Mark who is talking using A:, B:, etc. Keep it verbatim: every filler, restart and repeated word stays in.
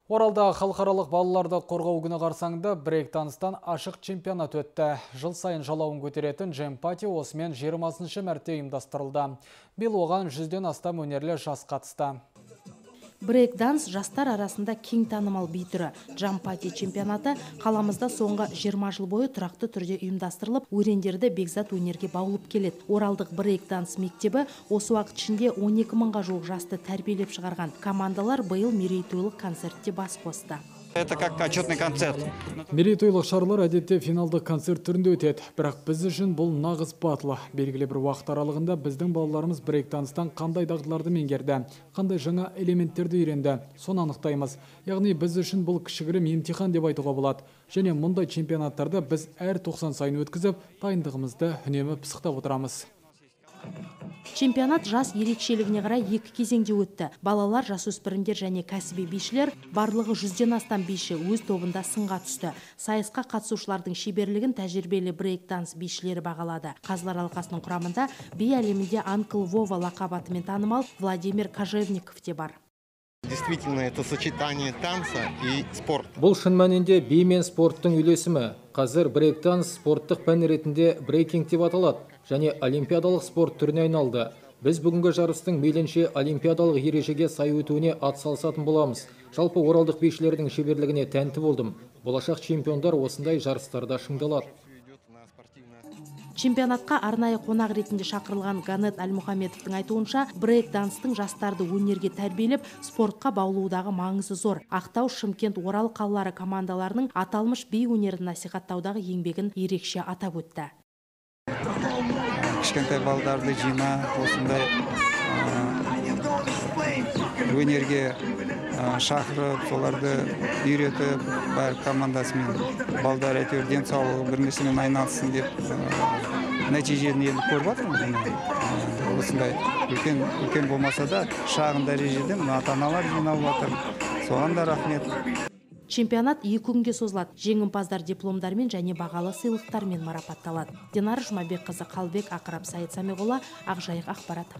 A: Оралда халықаралық балаларды қорғау күні қарсаңында брейк-данстан ашық чемпионат өтті. Жыл сайын жалауын көтеретін джем-пати осымен жиырмасыншы мәрте ұйымдастырылды. Биыл оған жүзден астам өнерлі жас қатысты.
B: Брейк-данс жастар арасында кең танымал би түрі. Джем-пати чемпионаты қаламызда соңғы жиырма жыл бойы тұрақты түрде ұйымдастырылып, өрендерді бекзат өнерге баулып келеді. Оралдық брейк-данс мектебі осы уақыт ішінде он екі мыңға жуық жасты тәрбиелеп шығарған. Командалар биыл мерейтойлық концертте бас қосты.
C: Это как отчетный концерт.
A: Мерейтойлық шаралар әдетте финалдық концерт түрінде өтеді. Бірақ біз үшін бұл нағыз батыл. Белгілі бір уақыт аралығында біздің балаларымыз брейк-данстан қандай дағдыларды меңгерді, қандай жаңа элементтерді үйренді, соны анықтаймыз. Яғни біз үшін бұл кішігірім емтихан деп айтуға болады. Және мұндай чемпионаттарды біз әр тоқсан сайын өткізіп, дайындығымызды үнемі пысықтап отырамыз.
B: Чемпионат жас ерекшелігіне қарай екі кезеңде өтті. Балалар, жасөспірімдер және кәсіби бишілер барлығы жүзден астам биші өз тобында сынға түсті. Сайысқа қатысушылардың шеберлігін тәжірибелі брейк-данс бишілері бағалады. Қазылар алқасының құрамында би әлемінде Анкл Вова лақап атымен танымал Владимир Кожевников те бар.
C: Действительно, это сочетание танца и спорта.
D: Бұл шын мәнінде би мен спорттың үйлесімі. Қазір брейк-данс спорттық пән ретінде брейкинг деп аталады және олимпиадалық спорт түріне айналды. Біз бүгінгі жарыстың мейлінше олимпиадалық ережеге сай өтуіне атсалысатын боламыз. Жалпы оралдық бишілердің шеберлігіне тәнті болдым. Болашақ чемпиондар осындай жарыстарда шыңдалады.
B: Чемпионатқа арнайы қонақ ретінде шақырылған Ганет Әлмұхамедовтың айтуынша, брейк-данстың жастарды өнерге тәрбиелеп, спортқа баулудағы маңызы зор. Ақтау, Шымкент, Орал қалалары командаларының аталмыш би өнерін насихаттаудағы еңбегін ерекше атап өтті.
E: Кішкентай балдарды жина осындай өнерге шақырып, соларды үйретіп, бар командасымен балдар әйтеуір денсаулығы бір нәрсемен айналыссын деп нәтижені енді көріп жатырмыз. Осындай үлкен үлкен болмаса да шағын дәрежеде ата-аналар жиналып жатыр. Соған да рахмет.
B: Чемпионат екі күнге созылады. Жеңімпаздар дипломдармен және бағалы сыйлықтармен марапатталады. Динара Жұмабекқызы, Қалбек Ақырап, Саид Самиғолла, Ақжайық ақпарат.